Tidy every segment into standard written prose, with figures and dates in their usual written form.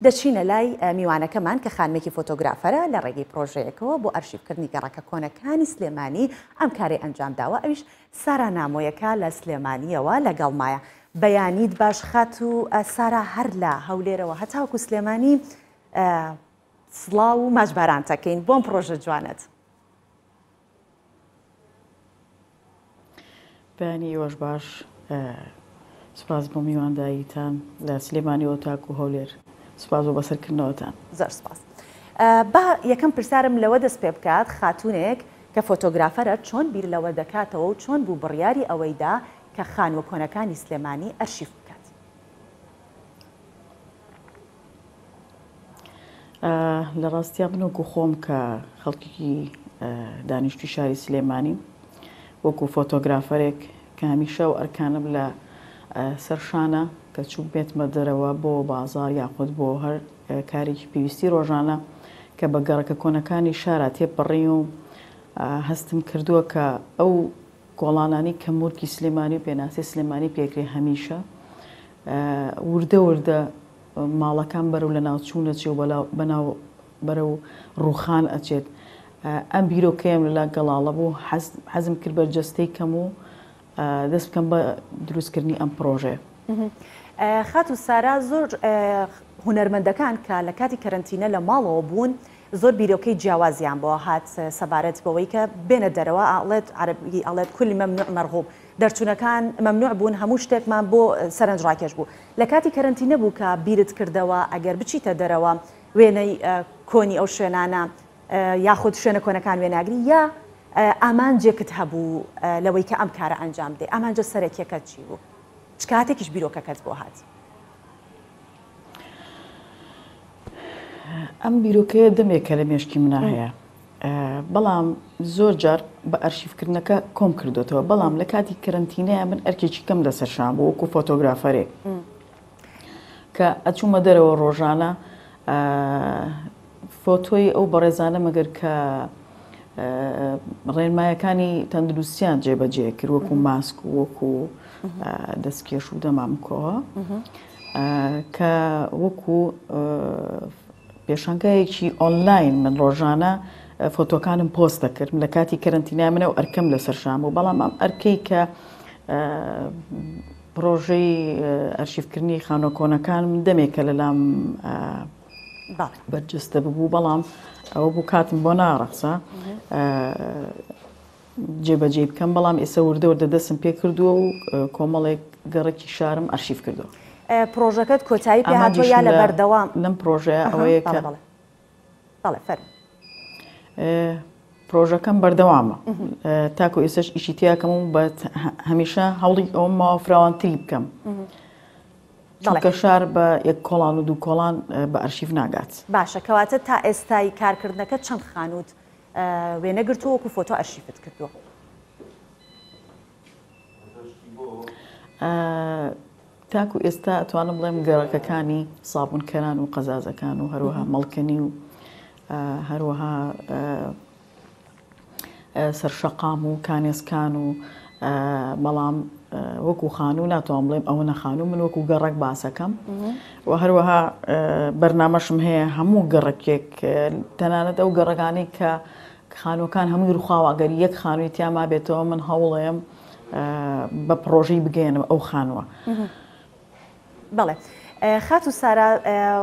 دەچینە لای میوانەکەمان کە خانمێکی فۆتۆگرافەرە لە ڕێگەی پرۆژەیەکەوە بۆ ئەرشیفکردنی گەڕەکە کۆنەکانی سلێمانی ئەم کارەی ئەنجامداوە ئەویش سارا نامۆیەکە لە سلێمانیەوە لەگەڵمایە. بەیانیت باش خاتوو سارا هەر لە هەولێرەوە هەتاوەکو سلێمانی سڵاو و ماچبارانتەکەین بۆم پرۆژە جوانەت. بەیانی ئێوەش باش سوپاس بۆ میوانداریتان لە سلێمانیەوە تاکو هەولێر سوپاس بۆ بەسەرکردنەوەتان. زۆر سوپاس. با یەکەم پرسیارم لەوە دەست پێ بکات خاتوونێک کە فۆتۆگرافەرە چۆن بیر لەوە دەکاتەوە و چۆن بوو بڕیاری ئەوەی دا کە خانووە کۆنەکانی سلێمانی ئەرشیف بکات؟ لە ڕاستیا من وەکو خۆم کە خەڵکێکی دانیشتوی شاری سلێمانیم وەکو فۆتۆگرافەرێک کە هەمیشە و ئەرکانم لە سەر شانە کە چوو بێتمە دەرەوە بۆ بازار یاخود بۆ هەر کارێکی پێویستی ڕۆژانە کە بە گەڕەکە کۆنەکانی شارا تێپەڕی و هەستم کردووە کە ئەو کۆڵانانی کە مورکی سلێمانی و پێناسی سلێمانی پێکرێ هەمیشە وردە وردە ماڵەکان بەرەو لەناوچوون ئەچێ و بەناو بەرەو ڕووخان ئەچێت. ئەم بیرۆکەیەم لەلا گەڵاڵە بوو، حەزم کرد بەرجەستەی کەم و دەست بکەم بە دروستکردنی ئەم پڕۆژەیە. خاتوو سارا زۆر هونەرمەندەکان کە لە کاتی کەرەنتینە لە ماڵەوە بوون زۆر بیرۆکەی جیاوازیان بۆ هات سەبارەت بەوەی کە بێنە دەرەوە ئەڵێت عەرەبی ئەڵێت کل ممنوع مرغوب دەرچوونەکان مەمنوع بوون هەموو شتێکمان بۆ سەرنج ڕاکێش بوو لە کاتی کەرەنتینە بوو کە بیرت کردەوە ئەگەر بچیتە دەرەوە وێنەی کۆنی ئەو شوێنانە یاخود شوێنە کۆنەکان وێناگری یا ئامانجێکت هەبوو لەوەی کە ئەم کارە ئەنجام بدەی ئامانجە سەرەکیەکەت چی بوو چ کاتێکیش بیرۆکەکەت بۆ هات؟ ئەم بیرۆکەیە دەمێکە لە مێشکی منا هەیە بەڵام زۆر جار بە ئەرشیفکردنەکە کۆم کردوێتەوە بەڵام لە کاتی کەرەنتینەیە من ئەرکێکی کەم لەسەر شان بوو وەکو فۆتۆگرافەرێک کە ئەچوومە دەرەوە ڕۆژانە فۆتۆی ئەو بەڕێزانە مەگەر کە ڕێنمایەکانی تەندروستیان جێبەجێ کرد وەکو ماسک و وەکو دەستکێش و دەمامکەوە کە وەکو پێشانگایەکی ئۆنلاین من ڕۆژانە فۆتۆکانم پۆست دەکرد لە کاتی کەرەنتینای منە و ئەرکەم لەسەر شان بوو بەڵام ئەم ئەرکەی کە پرۆژەی ئەرشیفکردنی خانووە کۆنەکان دەمێکە لەلام بەرجەستە ببوو بەڵام ئەوە بوو کاتم بۆ ناڕەخسا جێبەجێی بکەم، بەڵام ئێستا وردە وردە دەستم پێ کردووە و کۆمەڵێک گەڕەکی شارم ئەرشیف کردووە. پڕۆژەکەت کۆتایی پێ هاتووە یا لە بەردەوام؟ لەم پڕۆژەیە ئەوەیە کە. بەڵێ بەڵێ فەرموو. پڕۆژەکەم بەردەوامە تاکو ئێستاش ئیشی تیاکەم و بە هەمیشە هەوڵی ئەوەم ماوە فراوانتری بکەم. چونکە شار بە یەک کۆڵان و دوو کۆڵان بە ئەرشیف ناگات. باشە کەواتە تا ئێستای کارکردنەکە چەند خانووت وێنە گرتووە وەکو فۆتۆ ئەرشیفت کردووە؟ تاکو ئێستا ئەتوانم بڵێم گەڕەکەکانی سابونکەران و قەزازەکان و هەروەها مەڵکەنی و هەروەها سەرشەقام و کانێسکان و بەڵام وەکو خانوو ناتوانم بڵێم ئەوە نەخانوو من وەکو گەڕەک باسەکەم و هەروەها بەرنامەشم هەیە هەموو گەڕەکێک تەنانەت ئەو گەڕەکانەی کە خانووەکان هەمووی ڕوخاوە ئەگەر یەک خانووی تیا مابێتەوە من هەوڵێم بە پڕۆژەی بگەیەنم ئەو خانووە. بەڵێ خاتوو سارا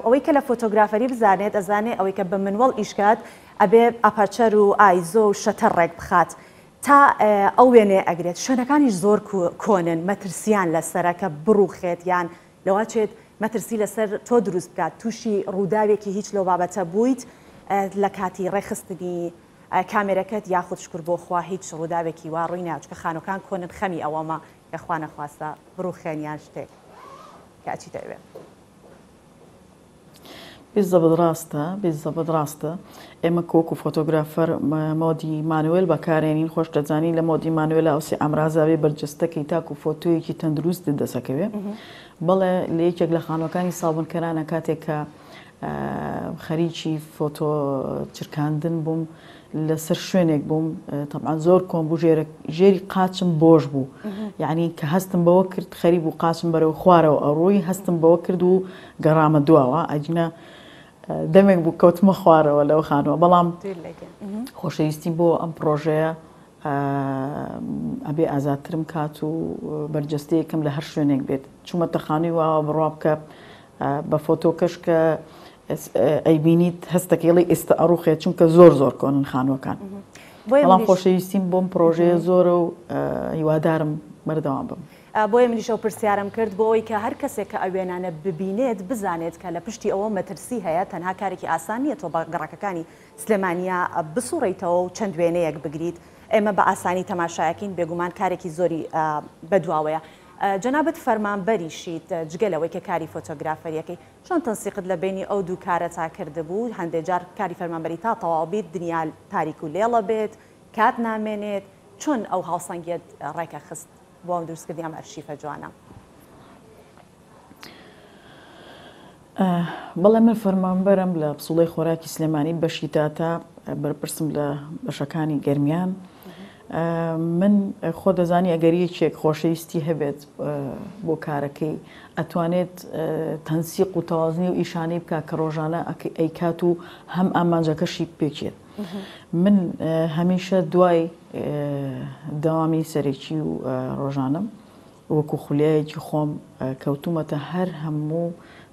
ئەوەی کە لە فۆتۆگرافەری بزانێت ئەزانێ ئەوەی کە بە منوەڵ ئیشکات ئەبێ aperture و ISO و shutter ڕێک بخات تا ئەو وێنەیە ئەگرێت شوێنەکانیش زۆر کۆنن مەترسیان لەسەرە کە بڕوخێت یان لەواچێت مەترسی لەسەر تۆ دروست بکات تووشی ڕووداوێکی هیچ لەو بابەتە بوویت لە کاتی ڕێکخستنی کامێرەکەت یاخود شکر بۆ خوا هیچ ڕووداوێکی وا ڕووی نایە چونکە خانووەکان کۆنن خەمی ئەوەمە کە خوا نەخواستە بڕوخێن یان شتێک کە ئەچیتە ئەوێ. بیزەبت ڕاستە بیزەبت ڕاستە ئێمە کۆک و فۆتۆگرافەر mode ی manual بەکارێنین خۆش دەزانی لە mode ی manual ئەو سێ ئامرازاوێ بەرجەستەکەی تاکو فۆتۆیەکی تەندروست دەسەکەوێ بەڵێ لە یەکێک لە خانوەکانی سابونکەرانە کاتێک کە. خەریکی فۆتۆ چرکاندن بووم لەسەر شوێنێک بووم تەبعەن زۆر کۆن بوو ژێرە ژێری قاچم بۆش بوو یعنی کە هەستم بەوە کرد خەری بوو قاچم بەرەو خوارەوە ئەڕۆی هەستم بەوە کرد و گەڕامە دواوە ئەجنە دەمێک بوو کەوتمە خوارەوە لەو خانووە بەڵام خۆشەویستی بۆ ئەم پرۆژەیە ئەبێ ئازادترم کات و بەرجەستەیەکم لە هەر شوێنێک بێت چوومەتە خانووی واوە بڕوا بکە بە فۆتۆکەش کە ئەیبینیت هەستەکەی ڵی ئێستا ئەڕوخێت چونکە زۆر زۆر کۆنن خانووەکان بەڵام خۆشەویستیم بۆم پرۆژەیە زۆرە و هیوادارم بەردەوام بم. بۆیە منیش ئەو پرسیارەم کرد بۆ ئەوەی کە هەر کەسێک کە ئەو وێنانە ببینێت بزانێت کە لە پشتی ئەوە مەترسی هەیە تەنها کارێکی ئاسان نییە تۆ بە گەڕەکەکانی سلێمانییە بسوڕێیتەوە و چەند وێنەیەک بگریت ئێمە بە ئاسانی تەماشایەکەین بێگومان کارێکی زۆری بەدواوەیە جەنابت فەرمانبەریشیت جگە لەوەی کە کاری فۆتۆگرافەریەکەی چۆن تەنسیقت لە بەینی ئەو دوو کارەتا کردبوو هەندێ جار کاری فەرمانبەری تا تەواو بیت دنیا تاریک و لێڵە بێت کات نامێنێت چۆن ئەو هاوسەنگیەت ڕێکەخست بۆ دروستکردنی ئەم ئەرشیفە جوانە؟ بەڵێ من فەرمانبەرم لە پسوڵەی خۆراکی سلێمانی بەشی داتا بەرپرسم لە بەشەکانی گەرمیان من خۆ دەزانی ئەگەر یەکێک خۆشەویستی هەبێت بۆ کارەکەی ئەتوانێت تەنسیق و تەوازنی و ئیشانەی بکە کە ڕۆژانە ئەیکات و هەم ئامانجەکەشی پێکێت من هەمیشە دوای دەوامی سەرەکی و ڕۆژانم وەکو خولیایەکی خۆم کەوتوومەتە هەر هەموو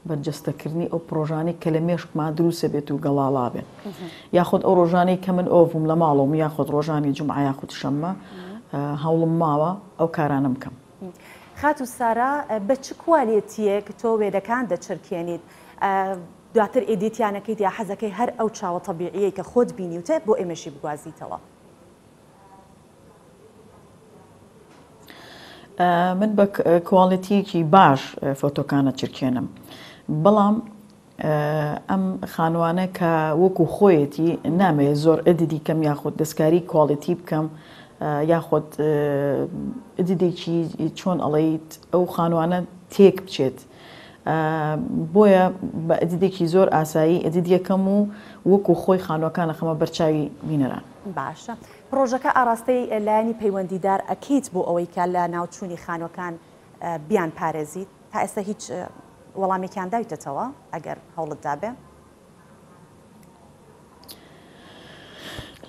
بەرجەستەکردنی ئەو پڕۆژانەی کە لە مێشکما دروسە بێت و گەڵاڵا بێت یاخود ئەو ڕۆژانەی کە من ئۆف بووم لە ماڵەوەم یاخود ڕۆژانی جومعە یاخود شەممە هەوڵم ماوە ئەو کارانەم بکەم. خاتوو سارا بە چ کوالێتییەک تۆ وێنەکان دەچرکێنیت؟ دواتر ئێدیتیان ئەکەیت یا حەزەکەی هەر ئەو چاوە تەبیعییەی کە خۆت بینیوتە بۆ ئێمەشی بگوازیتەوە؟ من بە کواڵێتیەکی باش فۆتۆکانە چرکێنم بەڵام ئەم خانوانە کە وەکو خۆیەتی نامەوێت زۆر edit ی کەم یاخود دەستکاری quality بکەم یاخود edit ێکی چۆن ئەڵیت ئەو خانوانە تێک بچێت بۆیە بە edit ێکی زۆر ئاسایی edit یەکەم و وەکو خۆی خانوەکانە خەمە بەرچاوی بینەران. باشە پڕۆژەکە ئاڕاستەی لایەنی پەیوەندیدار ئەکەیت بۆ ئەوەی کە لە ناوچوونی خانوەکان بیان پارێزیت؟ تا ئێستا هیچ وەڵامێکیان داویتەتەوە ئەگەر هەوڵت دابێ؟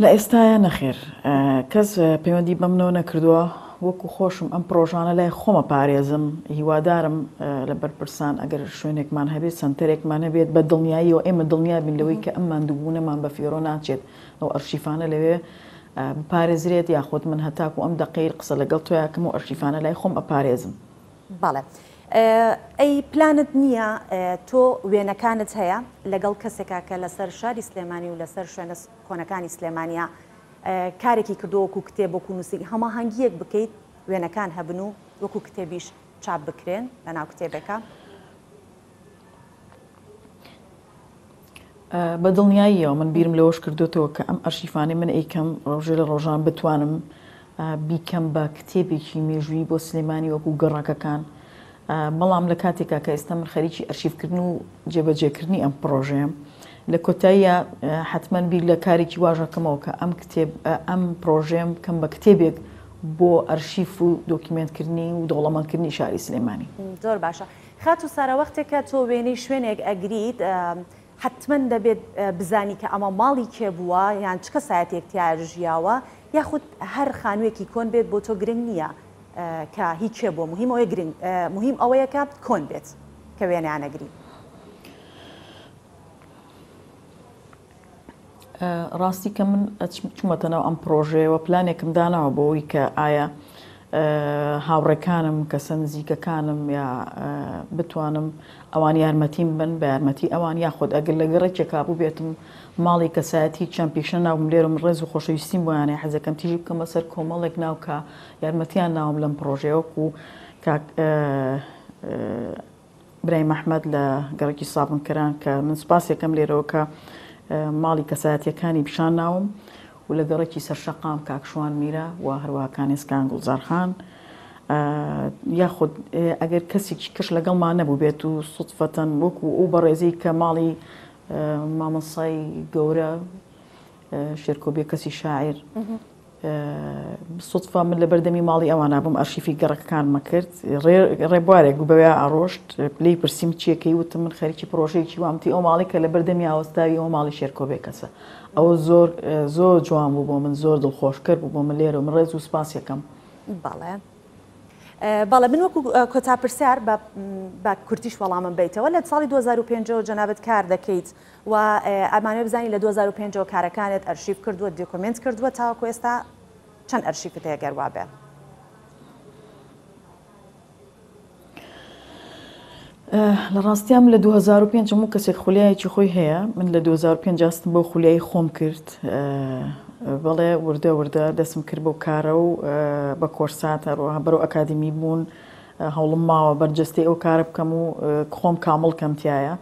لە ئێستایا نەخێر کەس پەیوەندی بەمنەوە نەکردووە وەکو خۆشم ئەم پرۆژانە لای خۆمە پارێزم هیوادارم لە بەرپرسان ئەگەر شوێنێکمان هەبێت سەنتەرێکمان هەبێت بە دڵنیاییەوە ئێمە دڵنیا بین لەوەی کە ئەم ماندووبوونەمان بە فیڕۆ ناچێت ئەو ئەرشیفانە لەوێ بپارێزرێت یاخود من هەتاکو ئەم دەقەی قسە لەگەڵ تۆیاکەم و ئەرشیفانە لای خۆم ئەپارێزم. بەڵێ ئەی پلانت نییە تۆ وێنەکانت هەیە لەگەڵ کەسێکا کە لەسەر شاری سلێمانی و لەسەر شوێنە کۆنەکانی سلێمانیا کارێکی کردووە وەکو کتێب وەکو نووسین هەماهەنگییەک بکەیت وێنەکان هەبن و وەکو کتێبیش چاپ بکرێن لەناو کتێبێکا؟ بە دڵنیاییەوە من بیرم لەوەش کردوێتەوە کە ئەم ئەرشیفانەی من ئەیکەم ڕۆژێ لە ڕۆژان بتوانم بیکەم بە کتێبێکی مێژوویی بۆ سلێمانی وەکو گەڕەکەکان بەڵام لە کاتێکا کە ئێستا من خەریکی ئەرشیفکردن و جێبەجێکردنی ئەم پڕۆژەیەم لە کۆتاییە حتمما بیر لە کارێکی واژەکەمەوە کە ئەم کتێب ئەم پڕۆژەیەم بکەم بە کتێبێک بۆ ئەرشیف و دۆکیمێنتکردنی و دەوڵەمەندکردنی شاری سلێمانی. زۆر باشە خاتوو سارا وەختێک کە تۆ وێنەی شوێنێک ئەگریت حەتمەن دەبێت بزانی کە ئەمە ماڵی کێ بووە یان چ کەسایەتێک تیایا ژیاوە یاخود هەر خانوویەکی کۆن بێت بۆ تۆ گرنگ نییە کە هی کێ بووە مهم ئەوەیە گرنگ مهم ئەوەیە کە کۆن بێت کە وێنەیان ئەگری. ڕاستی کە من چوومەتە ناو ئەم پڕۆژەیەوە پلانێکم داناوە بۆ ئەوەی کە ئایا هاوڕێکانم کەسە نزیکەکانم یا بتوانم ئەوان یارمەتیم بن بە یارمەتی ئەوان یاخود ئەگەر لە گەڕێکێکا بووبێتم ماڵی کەسایەتی چەند پیشە ناوم لێرم ڕێز و خۆشەویستیم بۆیانە حەزەکەم تیژی بکەمە سەر کۆمەڵێک ناو کە یارمەتیان ناوم لەم پڕۆژەیە وەکو کاک برایم ئەحمەد لە گەڕەکی سابونکەران کە من سوپاسێکەم لێرەوە کە ماڵی کەسایەتیەکانی پیشان ناوم و لە گەڕەکی سەرشەقام کاک شوان میرە و هەروەها کانێسکان گوڵزارخان یاخود ئەگەر کەسێکی کەش لەگەڵمان نەبوو بێت و سوتفەتەن وەکو ئەو بەڕێزی کە ماڵی مامۆستای گەورە شێرکۆ بێکەسی شاعیر سوتفە من لە بەردەمی ماڵی ئەوانە بووم ئەرشیفی گەڕەکەکانمە کرد ڕێبوارێک بوو بەوێ ئاڕۆشت لێی پرسیم چیەکەی وتم من خەریکی پرۆژەیەکی وامتی ئەو ماڵی کە لە بەردەمی ئاوەستاوی ئەو ماڵی شێرکۆ بێکەسە ئەوە زۆر زۆر جوان بوو بۆ من زۆر دڵخۆشکەر بوو بۆ من لێرە من ڕێز و سپاس یەکەم. بەڵێ بەڵێ من وەکو کۆتا پرسیار بە کورتیش وەڵامم بیتەوە لە ساڵی 2005 جەنابت کار دەکەیت و ئەمانەوێ بزانین لە 2005 ەوە کارەکانت ئەرشیف کردووە دۆکۆمێنت کردووە تاوەکو ئێستا چەند ئەرشیفت هەیە گەر وابێ؟ لە ڕاستیا من لە 2005 هەموو کەسێک خولیایەکی خۆی هەیە من لە 2005 هەستم بەو خولیایی خۆم کرد بەڵێ وردە وردە دەستم کرد بەو کارە و بە کۆرسات هەروەها بەرەو ئەکادیمی بوون هەوڵم ماوە بەرجەستەی ئەو کارە بکەم و خۆم کامڵ کەم تایە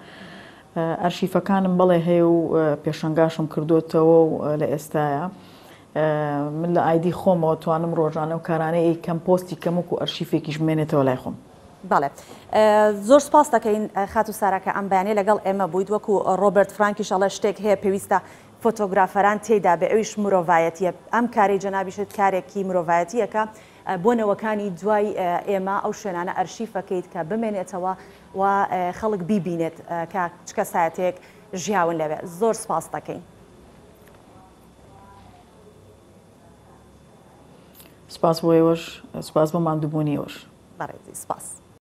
ئەرشیفەکانم بەڵێ هەیە و پێشەنگاشم کردوتەوە و لە ئێستاە من لە ئایدی خۆمەوە توانم ڕۆژانە و کارانەی ئەیکەم پۆستی کەم وەکو ئەرشیفێکیش بمێنێتەوە لای خۆم. بەڵێ زۆر سپاس دەکەین خاتوو سارا کە ئەم بەیانیە لەگەڵ ئێمە بوویت وەکو ڕۆبەرت فرانکیش ئەڵێ شتێک هەیە پێویستە فۆتۆگرافەران تێیدا بێ ئەویش مرۆڤایەتیە ئەم کارەی جەنابیشت کارێکی مرۆڤایەتیەکە بۆ نەوەکانی دوای ئێمە ئەو شوێنانە ئەرشیفەکەیت کە بمێنێتەوە و خەڵک بیبینێت کە چ کەسایەتێک ژیاون لەوێ زۆر سپاس دەکەین. سپاس بۆ ئێوەش سپاس بۆ ماندووبوونی ئێوەش. بەڕێزی سپاس.